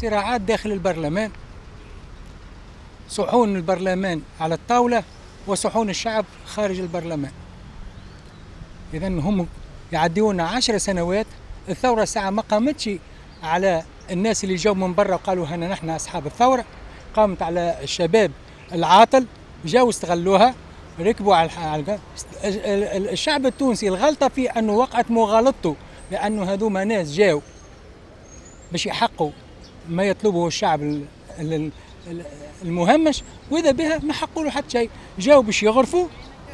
صراعات داخل البرلمان، صحون البرلمان على الطاولة وصحون الشعب خارج البرلمان. إذا هم يعديونا 10 سنوات. الثورة ساعة ما قامتش على الناس اللي جاوا من برا وقالوا هنا نحن أصحاب الثورة، قامت على الشباب العاطل، جاوا استغلوها، ركبوا على الشعب التونسي. الغلطة في أنه وقعت مغالطته، لأنه هذوما ناس جاوا باش يحققوا ما يطلبه الشعب المهمش، وإذا بها ما حققوا له حتى شيء. جاوا باش يغرفوا،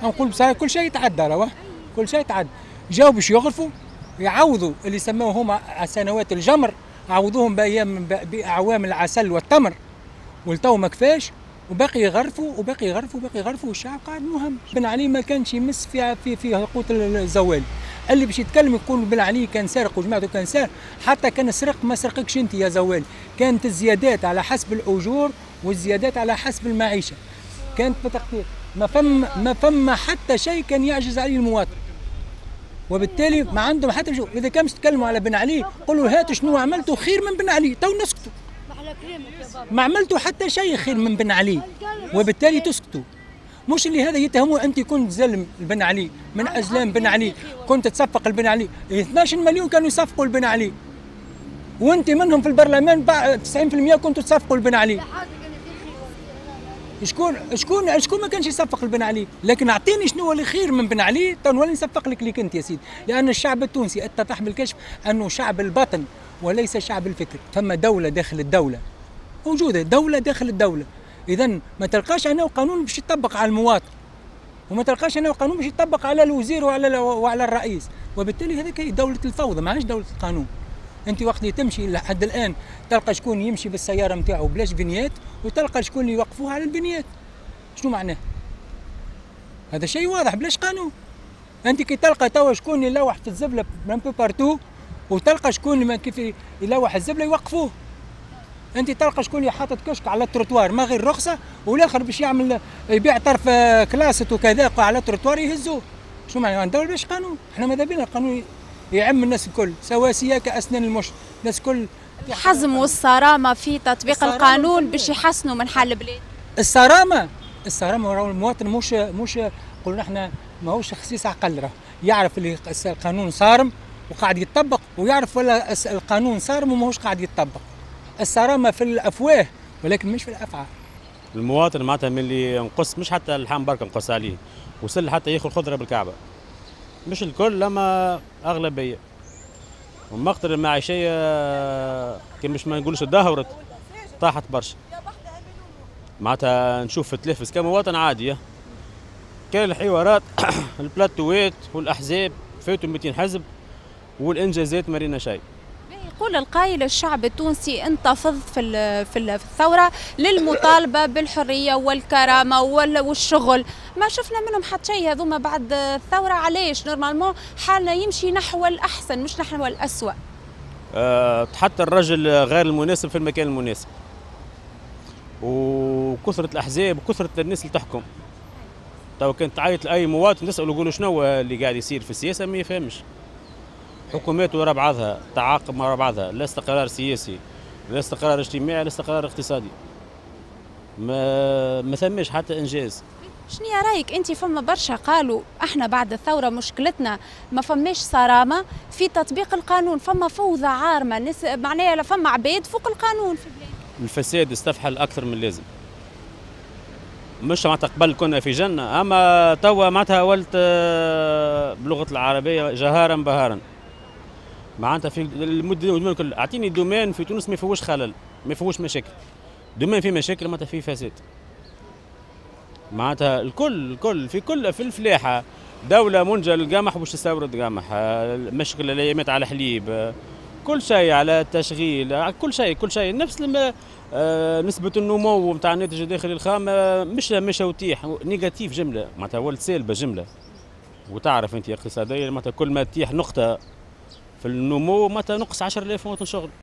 نقول بصراحة كل شيء يتعدى، رواه كل شيء يتعدى. جاوا باش يغرفوا، يعوضوا اللي سموه هما سنوات الجمر، عوضوهم بأيام بأعوام العسل والتمر، والتو ما كفاش، وباقي يغرفوا وباقي يغرفوا وباقي يغرفوا، والشعب قاعد مهمش. بن علي ما كانش يمس في في في قوت الزوال. اللي باش يتكلم يقول بن علي كان سارق وجماعته كان سارق، حتى كان سرق ما سرقكش انت يا زوال. كانت الزيادات على حسب الاجور والزيادات على حسب المعيشة، كانت بتقدير ما فما حتى شيء كان يعجز عليه المواطن، وبالتالي ما عندهم حتى شو. اذا كان تكلموا على بن علي قولوا هاتوا شنو عملتوا خير من بن علي، تو نسكتوا. ما عملتوا حتى شيء خير من بن علي، وبالتالي تسكتوا. مش اللي هذا يتهموا انت كنت زلم بن علي، من ازلام بن علي، كنت تصفق لبن علي. 12 مليون كانوا يصفقوا لبن علي، وانت منهم في البرلمان 90% كنتوا تصفقوا لبن علي. شكون شكون شكون ما كانش يصفق لبن علي؟ لكن اعطيني شنو هو اللي خير من بن علي تنولي نصفق لك ليك انت يا سيدي. لان الشعب التونسي اتضح بالكشف انه شعب البطن وليس شعب الفكر. فما دولة داخل الدولة، موجودة دولة داخل الدولة. اذا ما تلقاش انا قانون باش يطبق على المواطن، وما تلقاش انا قانون باش يطبق على الوزير وعلى الرئيس، وبالتالي هذيك هي دولة الفوضى، ماهيش دولة القانون. انت وقت اللي تمشي لحد الان تلقى شكون يمشي بالسيارة نتاعو بلاش vignette، وتلقى شكون اللي يوقفوه على ال vignette. شنو معناه؟ هذا شيء واضح بلاش قانون. انت كي تلقى توا شكون يلوح في الزبله un peu partout، وتلقى شكون ما كيف يلوح الزبله يوقفوه. انت تلقى شكون اللي حاطط كشك على التروتوار ما غير رخصه، والاخر باش يعمل يبيع طرف كلاسط وكذا على التروتوار يهزوه. شو معنى الدولة باش قانون؟ احنا ماذا بينا القانون يعم الناس الكل سواسية كاسنان المشط، الناس الكل. الحزم والصرامه في تطبيق القانون باش يحسنوا من حال البلاد. الصرامه، الصرامه المواطن مش قلنا احنا ماهوش خسيس عقل، راه يعرف اللي القانون صارم وقاعد يتطبق، ويعرف ولا القانون صارم وماهوش قاعد يتطبق. الصرامه في الافواه ولكن مش في الافعال. المواطن معناتها من اللي ينقص، مش حتى اللحم برك نقص عليه، وصل حتى ياخذ خضرة بالكعبه. مش الكل لما اغلبيه. ومقدر المعيشية كي مش ما نقولش تدهورت، طاحت برشا. معناتها نشوف في التلفز كمواطن عادي كان الحوارات البلاتوات والاحزاب فاتوا 200 حزب، والانجازات ما رينا شيء. يقول القائل الشعب التونسي انتفض في الثورة للمطالبة بالحرية والكرامة والشغل، ما شفنا منهم حتى شيء هذوما بعد الثورة. علاش؟ normalement حالنا يمشي نحو الأحسن مش نحو الأسوأ. حتى الرجل غير المناسب في المكان المناسب، وكثرة الأحزاب وكثرة الناس اللي تحكم. تو كنت تعيط لأي مواطن تسأله يقول شنو اللي قاعد يصير في السياسة ما يفهمش. حكومات وراء بعضها، تعاقب وراء بعضها، لا استقرار سياسي، لا استقرار اجتماعي، لا استقرار اقتصادي. ما ثماش حتى انجاز. شنو رايك انت؟ فما برشا قالوا احنا بعد الثورة مشكلتنا ما فماش صرامه في تطبيق القانون، فما فوضى عارمه، ناس معناها فما عباد فوق القانون في البلاد. الفساد استفحل اكثر من اللازم. مش معناتها قبل كنا في جنة، اما توا معناتها ولت بلغه العربية جهارا بهارا. معناتها في ال domaine الكل، اعطيني domaine في تونس ما فيهوش خلل، ما فيهوش مشاكل. domaine فيه مشاكل معناتها فيه فساد. معناتها الكل الكل في كل في الفلاحة، دولة منتجه للقمح باش تستورد قمح، مشكلة الايامات على الحليب، كل شيء على التشغيل، كل شيء كل شيء نفس لما نسبة النمو نتاع الناتج الداخلي الخام مش وتيح négatif جملة، معناتها ولت سالبة جملة. وتعرف انت اقتصاديا معناتها كل ما تطيح نقطة في النمو معناتها نقص 10000 مواطن شغل.